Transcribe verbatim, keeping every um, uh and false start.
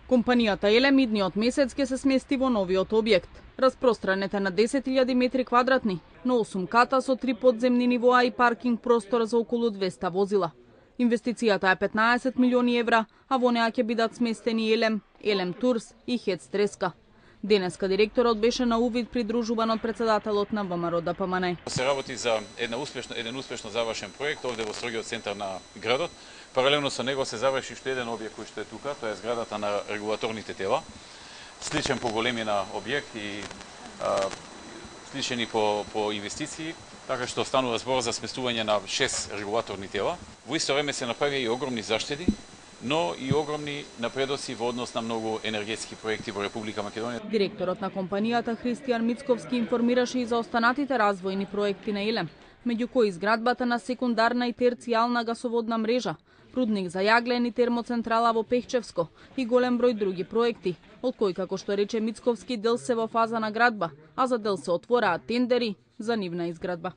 Компанијата Елем идниот месец ќе се смести во новиот објект. Распространет е на десет илјади метри квадратни, на осум ката со три подземни нивоа и паркинг простор за околу двеста возила. Инвестицијата е петнаесет милиони евра, а во неа ќе бидат сместени Елем, Елем Турс и Хец Треска. Денеска директорот беше на увид придружуван од председателот на ВМРО Д П М Н. Се работи за една успешно, еден успешно завршен проект овде во строгиот центар на градот. Паралелно со него се заврши уште еден објект кој што е тука, тоа е зградата на регулаторните тела. Сличен по големина објект и а, сличен и по, по инвестиции, така што станува збор за сместување на шест регулаторни тела. Во исто време се направи и огромни заштеди, но и огромни напредоци во однос на многу енергетски проекти во Република Македонија. Директорот на компанијата Христијан Мицковски информираше и за останатите развојни проекти на Елем, меѓу кои изградбата на секундарна и терцијална гасоводна мрежа, рудник за јаглен и термоцентрала во Пехчевско и голем број други проекти, од кои, како што рече Мицковски, дел се во фаза на градба, а за дел се отвораат тендери за нивна изградба.